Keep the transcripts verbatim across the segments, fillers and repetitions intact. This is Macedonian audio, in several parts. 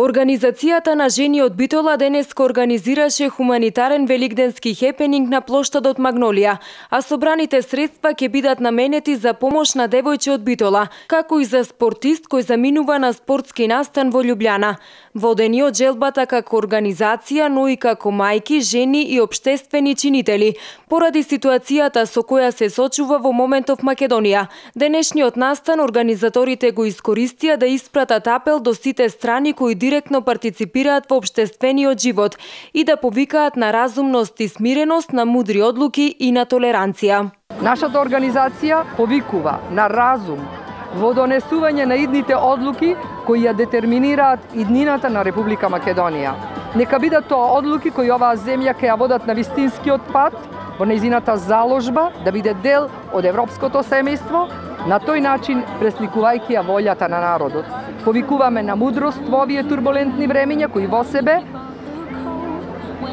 Организацијата на жени од Битола денеска организираше хуманитарен великденски хепенинг на плоштадот Магнолија, а собраните средства ќе бидат наменети за помош на девојче од Битола, како и за спортист кој заминува на спортски настан во Љубљана. Водени од желбата како организација, но и како мајки, жени и општествени чинители, поради ситуацијата со која се сочува во моментов Македонија. Денешниот настан организаторите го искористија да испратат апел до сите страни кои директно партиципираат во општествениот живот и да повикаат на разумност и смиреност, на мудри одлуки и на толеранција. Нашата организација повикува на разум во донесување на идните одлуки кои ја детерминираат иднината на Република Македонија. Нека бидат тоа одлуки кои оваа земја ќе ја водат на вистинскиот пат, во нејзината заложба да биде дел од европското семејство, на тој начин пресликувајќи ја волјата на народот. Повикуваме на мудрост во овие турбулентни времиња кои во себе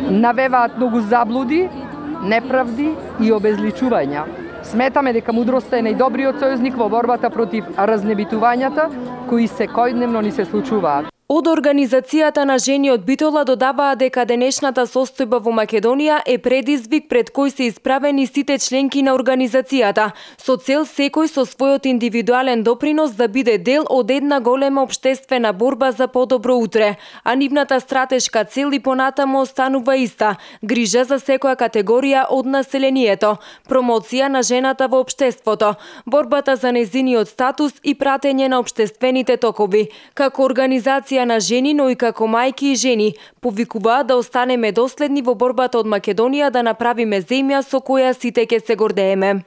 навеваат многу заблуди, неправди и обезличувања. Сметаме дека мудроста е најдобриот сојузник во борбата против разнебитувањата кои секојдневно ни се случуваат. Од Организацијата на жени од Битола додаваа дека денешната состојба во Македонија е предизвик пред кој се исправени сите членки на организацијата, со цел секој со својот индивидуален допринос да биде дел од една голема општествена борба за подобро утре, а нивната стратешка цел и понатаму останува иста – грижа за секоја категорија од населението, промоција на жената во општеството, борбата за нејзиниот статус и пратење на општествените токови. Како организација на жени, но и како мајки и жени, повикуваат да останеме доследни во борбата од Македонија да направиме земја со која сите ќе се гордееме.